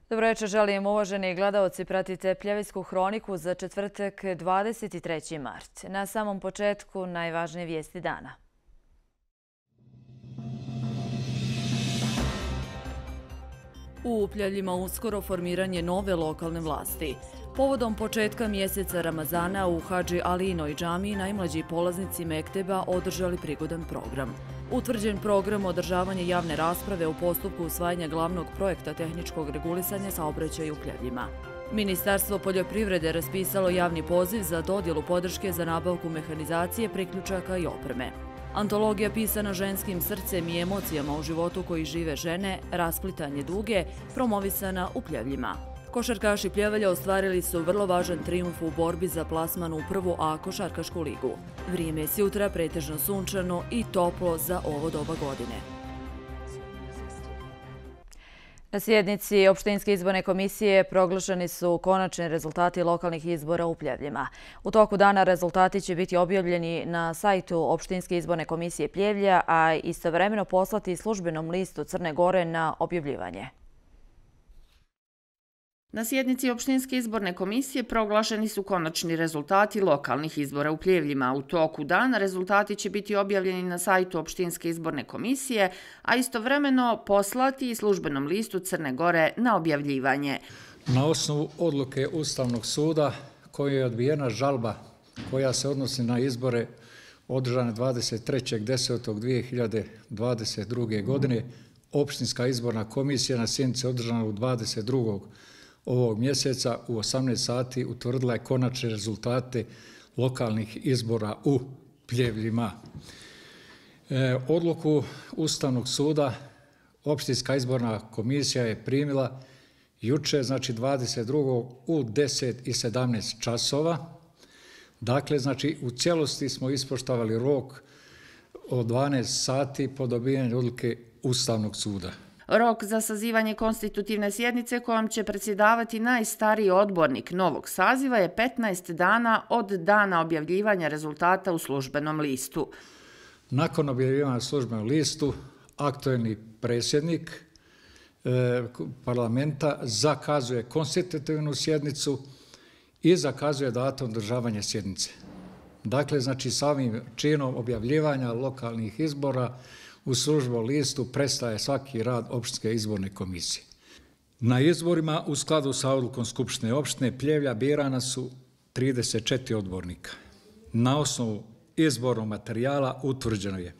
Dobro večer, želim uvaženi gledaoci, pratite Pljevljsku hroniku za četvrtak 23. mart. Na samom početku najvažnije vijesti dana. U Pljevljima uskoro formiranje nove lokalne vlasti. Povodom početka mjeseca Ramazana u Hadži Alijinoj džamiji najmlađi polaznici mekteba održali prigodan program. Utvrđen program održavanje javne rasprave u postupku usvajanja glavnog projekta tehničkog regulisanja saobraćaja u Pljevljima. Ministarstvo poljoprivrede raspisalo javni poziv za dodjelu podrške za nabavku mehanizacije, priključaka i opreme. Antologija pisana ženskim srcem i emocijama u životu koji žive žene, rasplitanje duge, promovisana u Pljevljima. Košarkaši Pljevelja ostvarili su vrlo važan trijumf u borbi za plasman u prvu A košarkašku ligu. Vrijeme je sjutra pretežno sunčano i toplo za ovo doba godine. Na sjednici Opštinske izborne komisije proglašeni su konačni rezultati lokalnih izbora u Pljevljima. U toku dana rezultati će biti objavljeni na sajtu Opštinske izborne komisije Pljevlja, a istovremeno poslati službenom listu Crne Gore na objavljivanje. Na sjednici Opštinske izborne komisije proglašeni su konačni rezultati lokalnih izbora u Pljevljima. U toku dana rezultati će biti objavljeni na sajtu Opštinske izborne komisije, a istovremeno poslati i službenom listu Crne Gore na objavljivanje. Na osnovu odluke Ustavnog suda koja je odbijena žalba koja se odnosi na izbore održane 23.10.2022. godine, Opštinska izborna komisija na sjednici održana u 22. ovog mjeseca u 18 sati utvrdila je konačne rezultate lokalnih izbora u Pljevljima. Odluku Ustavnog suda Opštinska izborna komisija je primila juče, znači 22. u 10:17 časova. Dakle, znači u cijelosti smo ispoštovali rok od 12 sati po dobijanju odluke Ustavnog suda. Rok za sazivanje konstitutivne sjednice kojom će predsjedavati najstariji odbornik novog saziva je 15 dana od dana objavljivanja rezultata u službenom listu. Nakon objavljivanja u službenom listu, aktuelni predsjednik parlamenta zakazuje konstitutivnu sjednicu i zakazuje datum održavanja sjednice. Dakle, znači samim činom objavljivanja lokalnih izbora u službenom listu prestaje svaki rad Opštinske izborne komisije. Na izborima u skladu sa odlukom Skupštine opštine Pljevlja birana su 34 odbornika. Na osnovu izbornog materijala utvrđeno je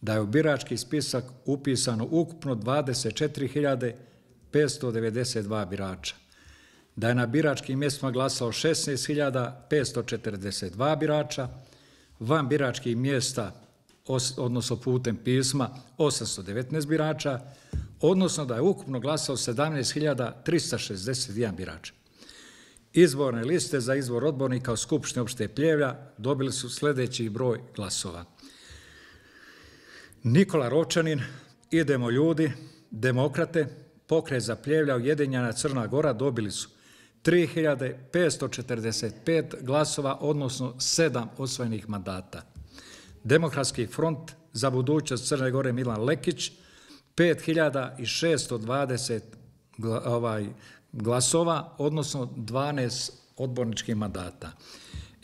da je u birački spisak upisano ukupno 24.592 birača, da je na biračkim mjestima glasalo 16.542 birača, van biračkih mjesta odnosno putem pisma 819 birača, odnosno da je ukupno glasao 17.361 birača. Izborne liste za izbor odbornika u Skupštini opštine Pljevlja dobili su sljedeći broj glasova. Nikola Ročanin, Idemo ljudi, Demokrate, Pokret za Pljevlja, Ujedinjena Crna Gora dobili su 3.545 glasova, odnosno 7 osvojenih mandata. Demokratski front za budućnost Crne Gore Milan Lekić, 5.620 glasova, odnosno 12 odborničkih mandata.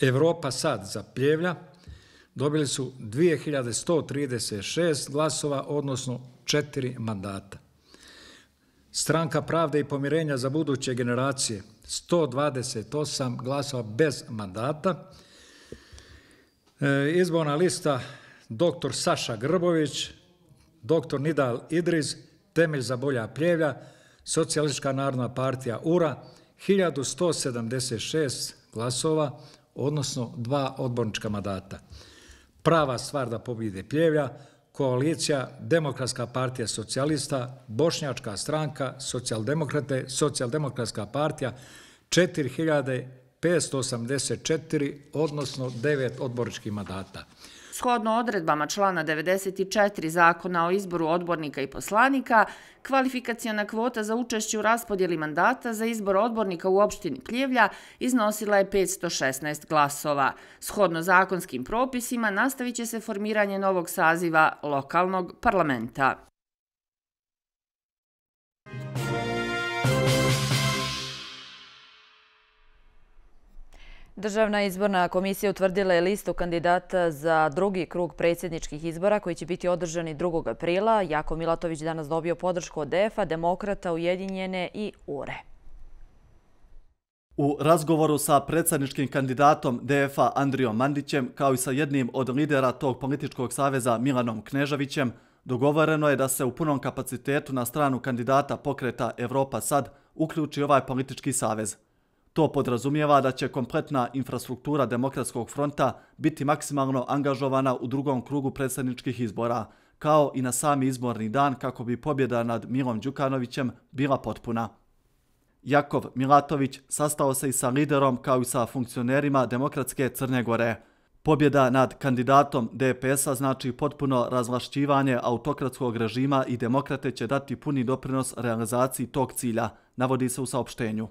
Evropa sad za Pljevlja dobili su 2.136 glasova, odnosno 4 mandata. Stranka Pravde i pomirenja za buduće generacije, 128 glasova bez mandata. Izborna lista dr. Saša Grbović, dr. Nidal Idriz, Temelj za bolja Pljevlja, Socijalistička narodna partija URA, 1176 glasova, odnosno 2 odbornička mandata. Prava stvar da pobjede Pljevlja, koalicija Demokratska partija socijalista, Bošnjačka stranka, socijaldemokrate, socijaldemokratska partija, 4.584, odnosno 9 odborničkih mandata. Shodno odredbama člana 94 Zakona o izboru odbornika i poslanika, kvalifikaciona kvota za učešće u raspodjeli mandata za izbor odbornika u opštini Pljevlja iznosila je 516 glasova. Shodno zakonskim propisima nastavit će se formiranje novog saziva lokalnog parlamenta. Državna izborna komisija utvrdila je listu kandidata za drugi krug predsjedničkih izbora koji će biti održani 2. aprila. Jako Milatović danas dobio podršku od DF-a, Demokrata, Ujedinjene i URE. U razgovoru sa predsjedničkim kandidatom DF-a Andrijom Mandićem, kao i sa jednim od lidera tog političkog saveza Milanom Kneževićem, dogovoreno je da se u punom kapacitetu na stranu kandidata pokreta Evropa Sad uključi ovaj politički savez. To podrazumijeva da će kompletna infrastruktura Demokratskog fronta biti maksimalno angažovana u drugom krugu predsjedničkih izbora, kao i na sami izborni dan kako bi pobjeda nad Milom Đukanovićem bila potpuna. Jakov Milatović sastao se i sa liderom kao i sa funkcionerima Demokratske Crne Gore. Pobjeda nad kandidatom DPS-a znači potpuno razvlašćivanje autokratskog režima i Demokrate će dati puni doprinos realizaciji tog cilja, navodi se u saopštenju.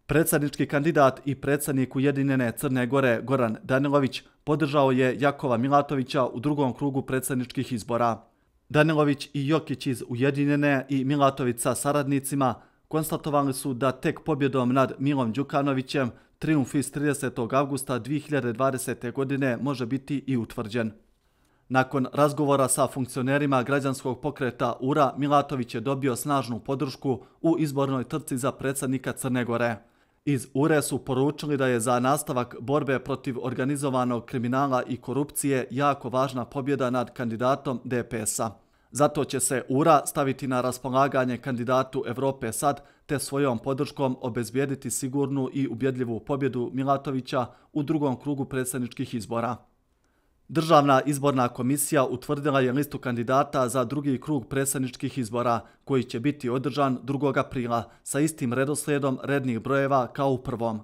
Predsjednički kandidat i predsjednik Ujedinjene Crne Gore Goran Danilović podržao je Jakova Milatovića u drugom krugu predsjedničkih izbora. Danilović i Jokić iz Ujedinjene i Milatović sa saradnicima konstatovali su da tek pobjedom nad Milom Đukanovićem trijumf iz 30. avgusta 2020. godine može biti i utvrđen. Nakon razgovora sa funkcionerima građanskog pokreta URA, Milatović je dobio snažnu podršku u izbornoj trci za predsjednika Crne Gore. Iz URE su poručili da je za nastavak borbe protiv organizovanog kriminala i korupcije jako važna pobjeda nad kandidatom DPS-a. Zato će se URA staviti na raspolaganje kandidatu Evrope Sad te svojom podrškom obezbijediti sigurnu i ubjedljivu pobjedu Milatovića u drugom krugu predsjedničkih izbora. Državna izborna komisija utvrdila je listu kandidata za drugi krug predsjedničkih izbora koji će biti održan 2. aprila sa istim redoslijedom rednih brojeva kao u prvom.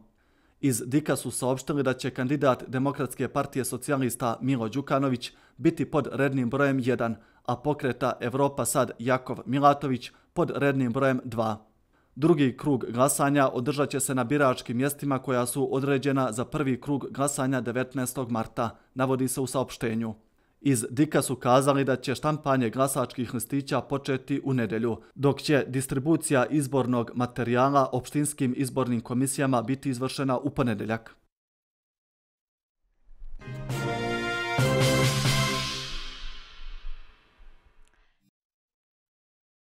Iz DIK-a su saopštili da će kandidat Demokratske partije socijalista Milo Đukanović biti pod rednim brojem 1, a pokreta Evropa Sad Jakov Milatović pod rednim brojem 2. Drugi krug glasanja održat će se na biračkim mjestima koja su određena za prvi krug glasanja 19. marta, navodi se u saopštenju. Iz DIK-a su kazali da će štampanje glasačkih listića početi u nedjelju, dok će distribucija izbornog materijala opštinskim izbornim komisijama biti izvršena u ponedjeljak.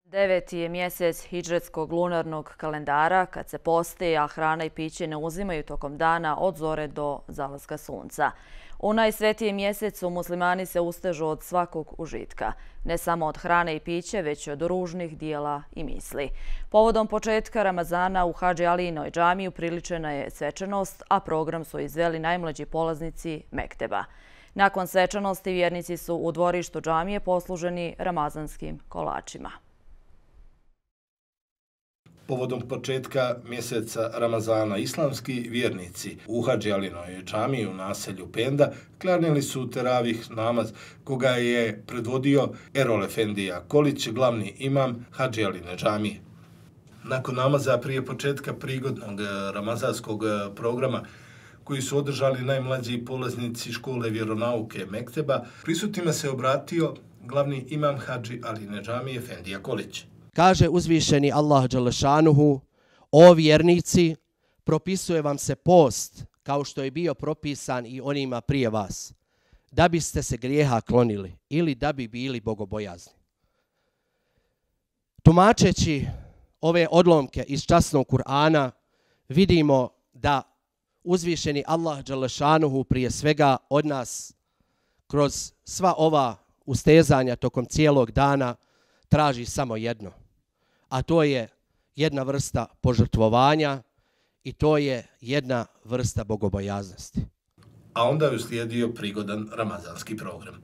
9. je mjesec hidžretskog lunarnog kalendara kad se posti, a hrana i piće ne uzimaju tokom dana od zore do zalaska sunca. U najsvetijem mjesecu muslimani se ustežu od svakog užitka. Ne samo od hrane i piće, već od ružnih dijela i misli. Povodom početka Ramazana u Hadži Alijinoj džamiji upriličena je svečanost, a program su izveli najmlađi polaznici mekteba. Nakon svečanosti vjernici su u dvorištu džamije posluženi ramazanskim kolačima. Povodom početka mjeseca Ramazana islamski vjernici u Hadži Alijinoj džamiji u naselju Penda klanjali su teravih namaz koga je predvodio Erol Efendija Kolić, glavni imam Hadži Alijinoj džamije. Nakon namaza prije početka prigodnog ramazanskog programa koji su održali najmlađi polaznici škole vjeronauke Mekteba, prisutnima se obratio glavni imam Hadži Alijinoj džamije Efendija Kolić. Kaže uzvišeni Allah dželešanuhu: o vjernici, propisuje vam se post kao što je bio propisan i onima prije vas, da biste se grijeha klonili ili da bi bili bogobojazni. Tumačeći ove odlomke iz časnog Kur'ana, vidimo da uzvišeni Allah dželešanuhu prije svega od nas kroz sva ova ustezanja tokom cijelog dana traži samo jedno, a to je jedna vrsta požrtvovanja i to je jedna vrsta bogobojaznosti. A onda je uslijedio prigodan ramazanski program.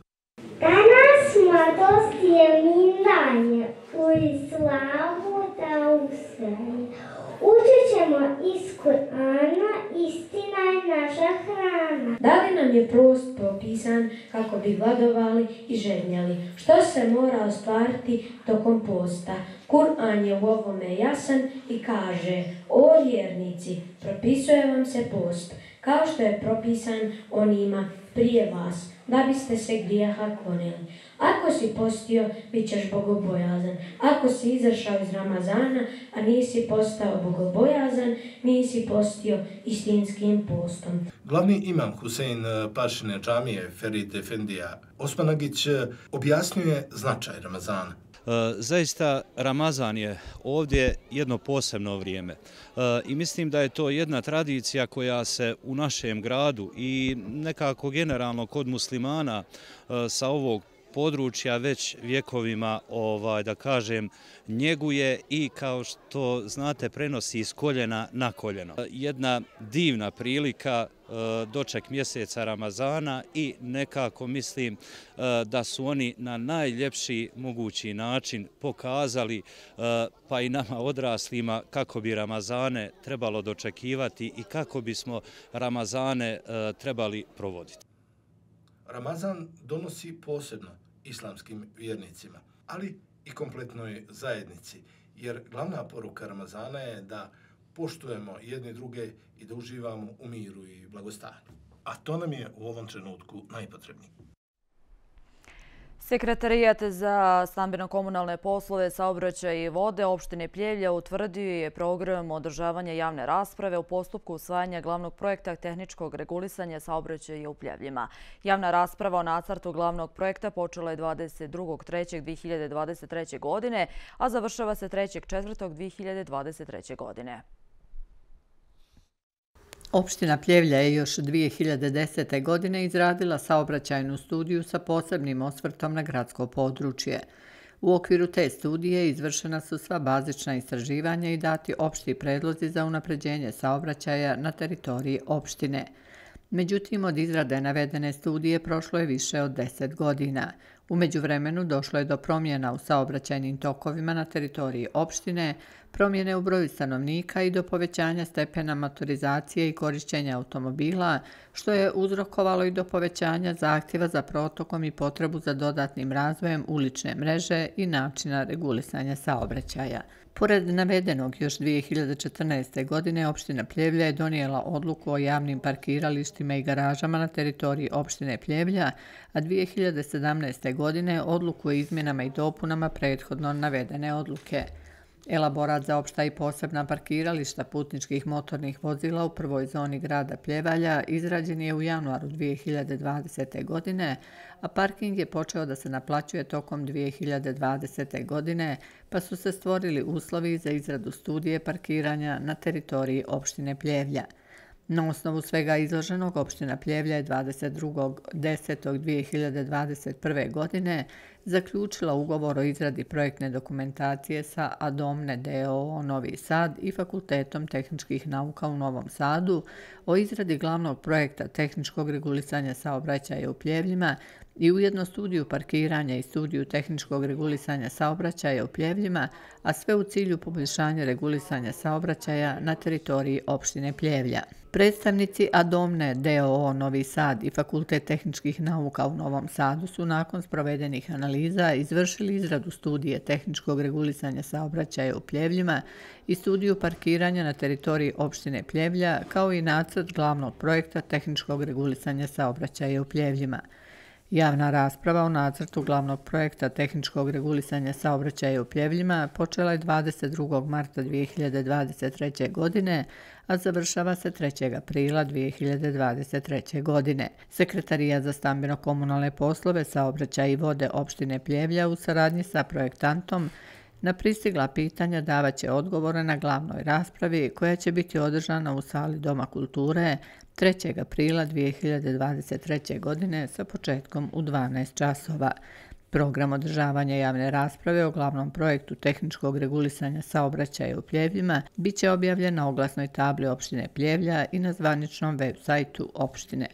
Danas mladost je minanje, u islamu da usraje. Učit ćemo iz Kur'ana, istina je naša hrana. Da li nam je post propisan kako bi gladovali i žednjali? Što se mora ostvariti tokom posta? Kur'an je u ovome jasan i kaže: o vjernici, propisuje vam se post, kao što je propisan onima prije vas, da biste se grijeha klonili. Ako si postio, bit ćeš bogobojazan. Ako si izašao iz Ramazana, a nisi postao bogobojazan, nisi postio istinskim postom. Glavni imam Husein Pašine džamije Ferid Efendija Osmanagić objasnjuje značaj Ramazana. Zaista Ramazan je ovdje jedno posebno vrijeme i mislim da je to jedna tradicija koja se u našem gradu i nekako generalno kod muslimana sa ovog područja već vjekovima, da kažem, njeguje i kao što znate prenosi iz koljena na koljeno. Jedna divna prilika, doček mjeseca Ramazana i nekako mislim da su oni na najljepši mogući način pokazali pa i nama odraslima kako bi Ramazane trebalo dočekivati i kako bismo Ramazane trebali provoditi. Ramazan donosi posebno islamskim vjernicima, ali i kompletnoj zajednici, jer glavna poruka Ramazana je da poštujemo jedni druge i da uživamo u miru i blagostanju. A to nam je u ovom trenutku najpotrebnije. Sekretarijat za stambeno-komunalne poslove, saobraćaj i vode opštine Pljevlja utvrdio je program održavanja javne rasprave u postupku usvajanja glavnog projekta tehničkog regulisanja saobraćaja u Pljevljima. Javna rasprava o nacrtu glavnog projekta počela je 22.3.2023. godine, a završava se 3.4.2023. godine. Opština Pljevlja je još 2010. godine izradila saobraćajnu studiju sa posebnim osvrtom na gradsko područje. U okviru te studije izvršena su sva bazična istraživanja i dati opšti predlozi za unapređenje saobraćaja na teritoriji opštine. Međutim, od izrade navedene studije prošlo je više od 10 godina. U međuvremenu došlo je do promjena u saobraćajnim tokovima na teritoriji opštine, promjene u broju stanovnika i do povećanja stepena motorizacije i korišćenja automobila, što je uzrokovalo i do povećanja zahtjeva za protokom i potrebu za dodatnim razvojem ulične mreže i načina regulisanja saobraćaja. Pored navedenog, još 2014. godine opština Pljevlja je donijela odluku o javnim parkiralištima i garažama na teritoriji opštine Pljevlja, a 2017. godine odluku o izmjenama i dopunama prethodno navedene odluke. Elaborat za opšta i posebna parkirališta putničkih motornih vozila u prvoj zoni grada Pljevalja izrađen je u januaru 2020. godine, a parking je počeo da se naplaćuje tokom 2020. godine, pa su se stvorili uslovi za izradu studije parkiranja na teritoriji opštine Pljevlja. Na osnovu svega izloženog, opština Pljevlja je 22.10.2021. godine zaključila ugovor o izradi projektne dokumentacije sa Adomne d.o.o. Novi Sad i Fakultetom tehničkih nauka u Novom Sadu o izradi glavnog projekta tehničkog regulisanja saobraćaja u Pljevljima i ujedno studiju parkiranja i studiju tehničkog regulisanja saobraćaja u Pljevljima, a sve u cilju poboljšanja regulisanja saobraćaja na teritoriji opštine Pljevlja. Predstavnici Adomne d.o.o. Novi Sad i Fakultet tehničkih nauka u Novom Sadu su nakon sprovedenih analiza izvršili izradu studije tehničkog regulisanja saobraćaja u Pljevljima i studiju parkiranja na teritoriji opštine Pljevlja, kao i nacrt glavnog projekta tehničkog regulisanja saobraćaja u Pljevljima. Javna rasprava o nacrtu glavnog projekta tehničkog regulisanja saobraćaja u Pljevljima počela je 22. marta 2023. godine, a završava se 3. aprila 2023. godine. Sekretarijat za stambeno-komunalne poslove, saobraćaj i vode opštine Pljevlja u saradnji sa projektantom na pristigla pitanja davaće odgovore na glavnoj raspravi koja će biti održana u sali Doma kulture 3. aprila 2023. godine sa početkom u 12 časova. Program održavanja javne rasprave o glavnom projektu tehničkog regulisanja saobraćaja u Pljevljima biće objavljen na oglasnoj tabli opštine Pljevlja i na zvaničnom web sajtu opštine.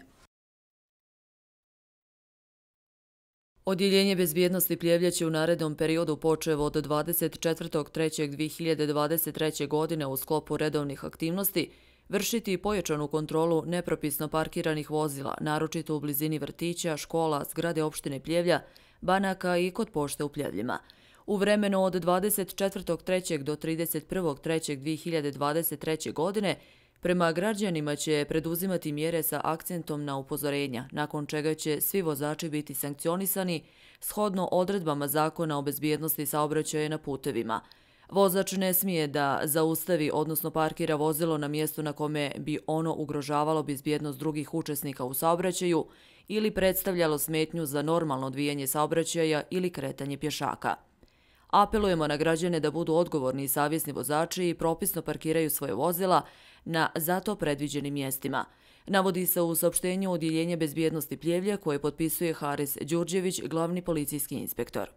Odjeljenje bezbjednosti Pljevlja će u narednom periodu počev od 24.3.2023. godine u sklopu redovnih aktivnosti vršiti pojačanu kontrolu nepropisno parkiranih vozila, naročito u blizini vrtića, škola, zgrade opštine Pljevlja, banaka i kod pošte u Pljevljima. U vremenu od 24.3. do 31.3.2023. godine Prema građanima će preduzimati mjere sa akcentom na upozorenja, nakon čega će svi vozači biti sankcionisani shodno odredbama Zakona o bezbjednosti saobraćaja na putevima. Vozač ne smije da zaustavi, odnosno parkira vozilo na mjestu na kome bi ono ugrožavalo bezbjednost drugih učesnika u saobraćaju ili predstavljalo smetnju za normalno odvijanje saobraćaja ili kretanje pješaka. Apelujemo na građane da budu odgovorni i savjesni vozači i propisno parkiraju svoje vozila na zato predviđenim mjestima. Navodi se u saopštenju Odjeljenja bezbjednosti Pljevlja koje potpisuje Haris Đurđević, glavni policijski inspektor.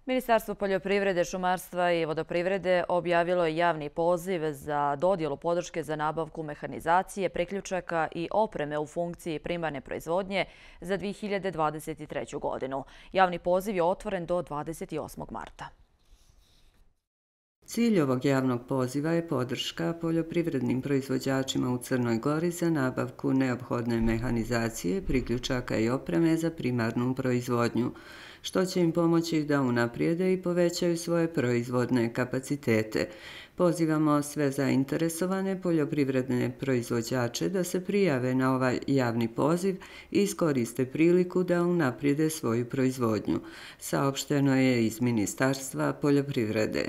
Ministarstvo poljoprivrede, šumarstva i vodoprivrede objavilo je javni poziv za dodjelu podrške za nabavku mehanizacije, priključaka i opreme u funkciji primarne proizvodnje za 2023. godinu. Javni poziv je otvoren do 28. marta. Cilj ovog javnog poziva je podrška poljoprivrednim proizvođačima u Crnoj Gori za nabavku neophodne mehanizacije, priključaka i opreme za primarnu proizvodnju, što će im pomoći da unaprijede i povećaju svoje proizvodne kapacitete. Pozivamo sve zainteresovane poljoprivredne proizvođače da se prijave na ovaj javni poziv i iskoriste priliku da unaprijede svoju proizvodnju, saopšteno je iz Ministarstva poljoprivrede.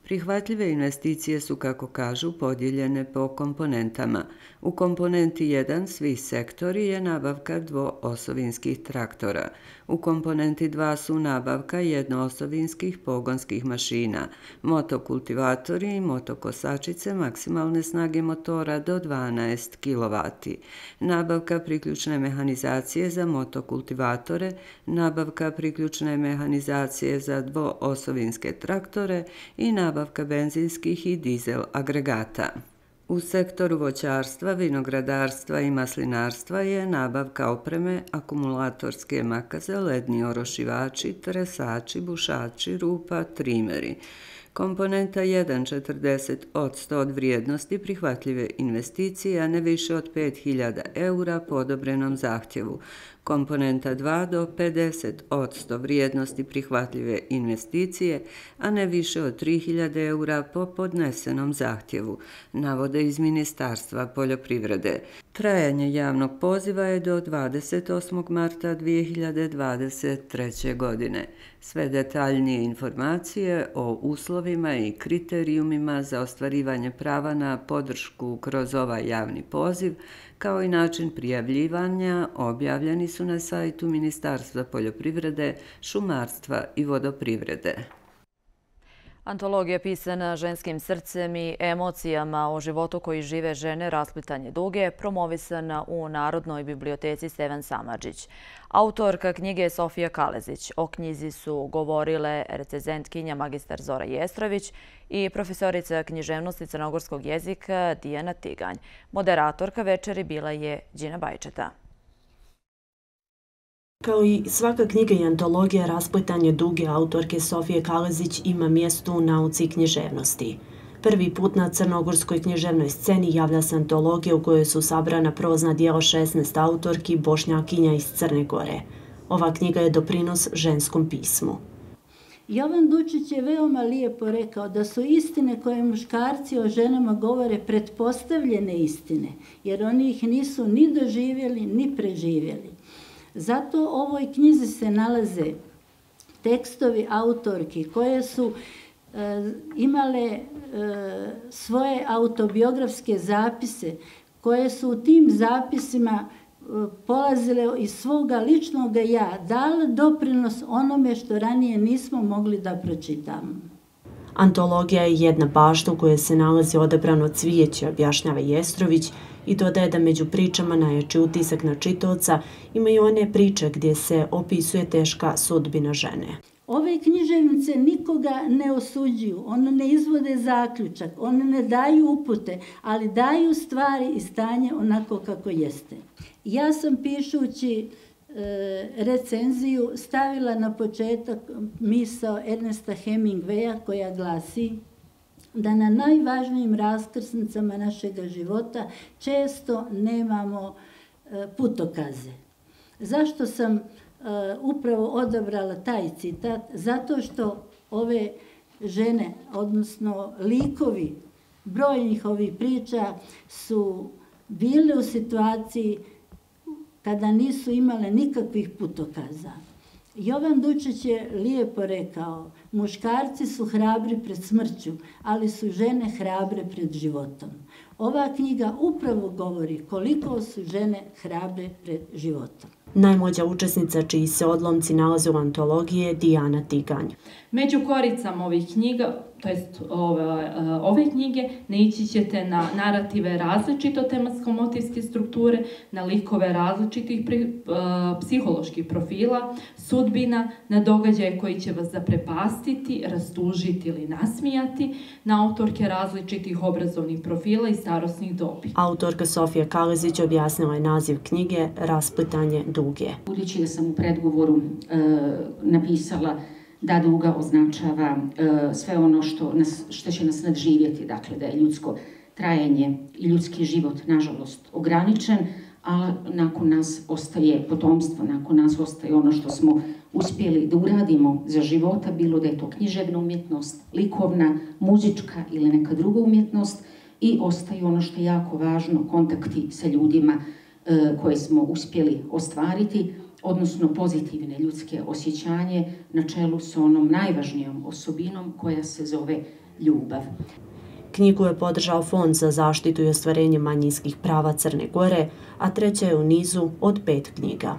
Prihvatljive investicije su, kako kažu, podijeljene po komponentama. U komponenti 1 svih sektori je nabavka dvoosovinskih traktora. U komponenti 2 su nabavka jednoosovinskih pogonskih mašina, motokultivatori i motokosačice maksimalne snage motora do 12 kW, nabavka priključne mehanizacije za motokultivatore, nabavka priključne mehanizacije za dvoosovinske traktore i nabavka benzinskih i dizel agregata. U sektoru voćarstva, vinogradarstva i maslinarstva je nabavka opreme, akumulatorske makaze, ledni orošivači, tresači, bušači, rupa, trimeri. Komponenta 1 40% od vrijednosti prihvatljive investicije, a ne više od 5.000 € po odobrenom zahtjevu. Komponenta 2 do 50% vrijednosti prihvatljive investicije, a ne više od 3.000 € po podnesenom zahtjevu, navode iz Ministarstva poljoprivrede. Trajanje javnog poziva je do 28. marta 2023. godine. Sve detaljnije informacije o uslovima i kriterijumima za ostvarivanje prava na podršku kroz ovaj javni poziv, kao i način prijavljivanja, objavljeni su na sajtu Ministarstva poljoprivrede, šumarstva i vodoprivrede. Antologija pisana ženskim srcem i emocijama o životu koji žive žene Rasplitanje duge, promovisana u Narodnoj biblioteci Stevan Samardžić. Autorka knjige je Sofija Kalezić. O knjizi su govorile recenzentkinja magistar Zora Jestrović i profesorica književnosti crnogorskog jezika Dijana Tiganj. Moderatorka večeri bila je Đina Bajčeta. Kao i svaka knjiga i antologija, Rasplitanje duge autorke Sofije Kalezić ima mjesto u nauci književnosti. Prvi put na crnogorskoj književnoj sceni javlja se antologija u kojoj su sabrana prozna dijela 16 autorki Bošnjakinja iz Crne Gore. Ova knjiga je doprinos ženskom pismu. Jovan Dučić je veoma lijepo rekao da su istine koje muškarci o ženama govore pretpostavljene istine, jer oni ih nisu ni doživjeli ni preživjeli. Zato u ovoj knjizi se nalaze tekstovi autorki koje su imale svoje autobiografske zapise, koje su u tim zapisima polazile iz svoga ličnog ja, dale doprinos onome što ranije nismo mogli da pročitamo. Antologija je jedna bašta u kojoj se nalazi odabrano cvijeće, objašnjava Jestrović, i dodaje da među pričama najjači utisak na čitaoca imaju one priče gdje se opisuje teška sudbina žene. Ove književnice nikoga ne osuđuju, one ne izvode zaključak, one ne daju upute, ali daju stvari i stanje onako kako jeste. Ja sam pišući recenziju stavila na početak misao Ernesta Hemingwaya koja glasi da na najvažnijim raskrsnicama našega života često nemamo putokaze. Zašto sam upravo odabrala taj citat? Zato što ove žene, odnosno likovi brojnih ovih priča su bile u situaciji kada nisu imale nikakvih putokaza. Jovan Dučić je lijepo rekao, muškarci su hrabri pred smrću, ali su žene hrabre pred životom. Ova knjiga upravo govori koliko su žene hrabre pred životom. Najmlađa učesnica čiji se odlomci nalaze u antologiji je Dijana Tiganj. Među koricama ovih knjiga, to jest ove knjige, naići ćete na narative različito tematsko-motivske strukture, na likove različitih psiholoških profila, sudbina, na događaje koji će vas zaprepastiti, rastužiti ili nasmijati, na autorke različitih obrazovnih profila i starosnih dobi. Autorka Sofija Kalezić objasnila je naziv knjige Rasplitanje duge. Budući da sam u predgovoru napisala da duga označava sve ono što će nas nadživjeti, dakle da je ljudsko trajanje i ljudski život nažalost ograničen, a nakon nas ostaje potomstvo, nakon nas ostaje ono što smo uspjeli da uradimo za života, bilo da je to književna umjetnost, likovna, muzička ili neka druga umjetnost, i ostaje ono što je jako važno, kontakti sa ljudima koje smo uspjeli ostvariti, odnosno pozitivne ljudske osjećanje na čelu sa onom najvažnijom osobinom koja se zove ljubav. Knjigu je podržao Fond za zaštitu i ostvarenje manjinskih prava Crne Gore, a treća je u nizu od 5 knjiga.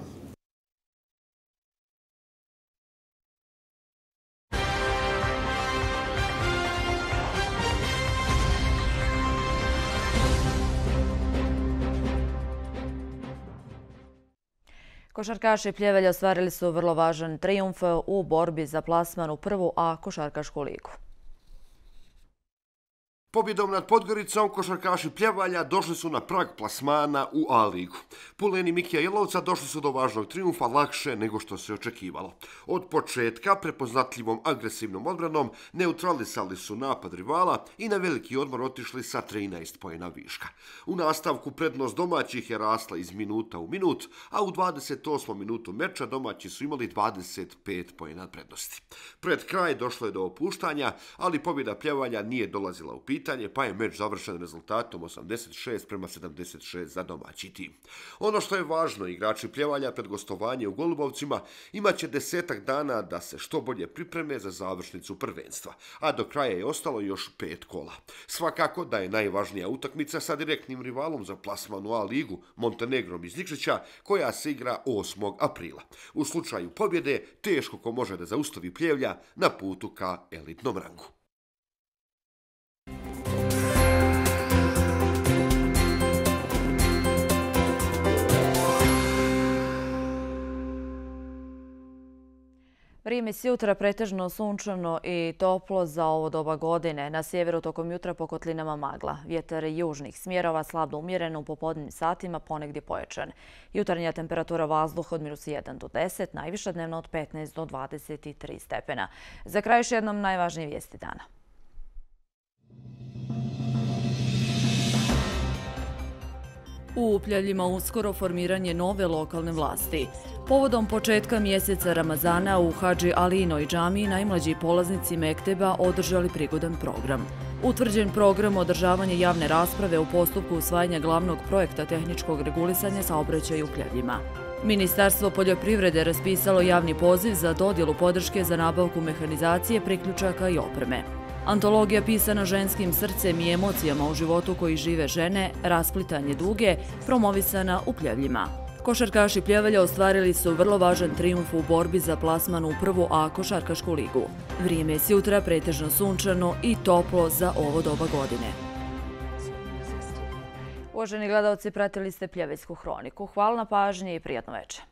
Košarkaši Pljevelja ostvarili su vrlo važan trijumf u borbi za plasman u prvu A košarkašku ligu. Pobjedom nad Podgoricom košarkaši Pljevalja došli su na prag plasmana u A ligu. Puleni Mikija Jelovca došli su do važnog trijumfa lakše nego što se očekivalo. Od početka prepoznatljivom agresivnom odbranom neutralisali su napad rivala i na veliki odmor otišli sa 13 poena viška. U nastavku prednost domaćih je rasla iz minuta u minut, a u 28. minutu meča domaći su imali 25 poena prednosti. Pred kraj došlo je do opuštanja, ali pobjeda Pljevalja nije dolazila u pitanje, pa je meč završen rezultatom 86-76 za domaći tim. Ono što je važno, igrači Pljevalja pred gostovanje u Golubovcima imaće 10 dana da se što bolje pripreme za završnicu prvenstva, a do kraja je ostalo još 5 kola. Svakako da je najvažnija utakmica sa direktnim rivalom za plasman u A ligu, Montenegrom iz Nikšića, koja se igra 8. aprila. U slučaju pobjede teško ko može da zaustavi Pljevlja na putu ka elitnom rangu. Vrijeme s jutra pretežno sunčano i toplo za ovo doba godine. Na sjeveru tokom jutra po kotlinama magla. Vjetar južnih smjerova slabno umjeren, u popodnevnim satima ponegdje pojačan. Jutarnja temperatura vazduha od -1 do 10, najviša dnevna od 15 do 23 stepena. Za kraj još jednom najvažnije vijesti dana. U Upljeljima uskoro formiranje nove lokalne vlasti. Povodom početka mjeseca Ramazana u Hadži Alinoj džamiji najmlađi polaznici mekteba održali prigodan program. Utvrđen program održavanje javne rasprave u postupku usvajanja glavnog projekta tehničkog regulisanja saobraćaja u Upljevljima. Ministarstvo poljoprivrede raspisalo javni poziv za dodjelu podrške za nabavku mehanizacije, priključaka i opreme. Antologija pisana ženskim srcem i emocijama u životu koji žive žene, Rasplitanje duge, promovisana u Pljevljima. Košarkaši Pljevelja ostvarili su vrlo važan trijumf u borbi za plasman u prvu A košarkašku ligu. Vrijeme je s jutra pretežno sunčano i toplo za ovo doba godine. Uvaženi gledalci, pratili ste Pljeveljsku hroniku. Hvala na pažnji i prijatno večer.